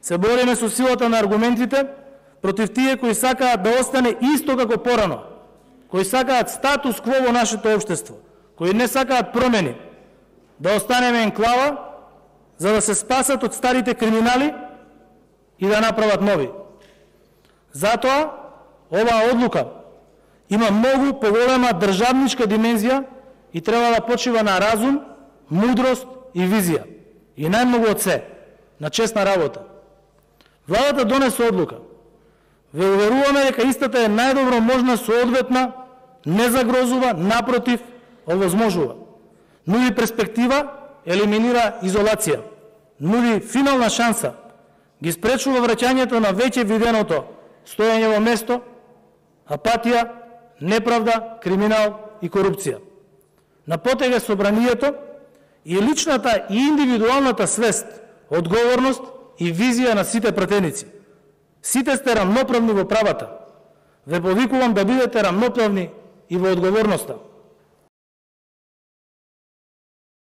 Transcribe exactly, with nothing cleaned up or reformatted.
се бориме со силата на аргументите против тие кои сакаат да остане исто како порано, кои сакаат статус кво во нашето општество, кои не сакаат промени, да останеме енклава за да се спасат од старите криминали и да направат нови. Затоа, оваа одлука има многу поголема државничка димензија и треба да почива на разум, мудрост и визија. И најмногу од се, на честна работа. Владата донесе одлука. Ве уверуваме дека истата е најдобро можна соодветна, не загрозува, напротив, овозможува. Нуди перспектива, елиминира изолација. Нуди финална шанса, ги спречува враќањето на веќе виденото стоење во место, апатија, неправда, криминал и корупција. На потега собранието и личната и индивидуалната свест, одговорност и визија на сите пратеници. Сите сте рамноправни во правата. Ве повикувам да бидете рамноправни и во одговорноста.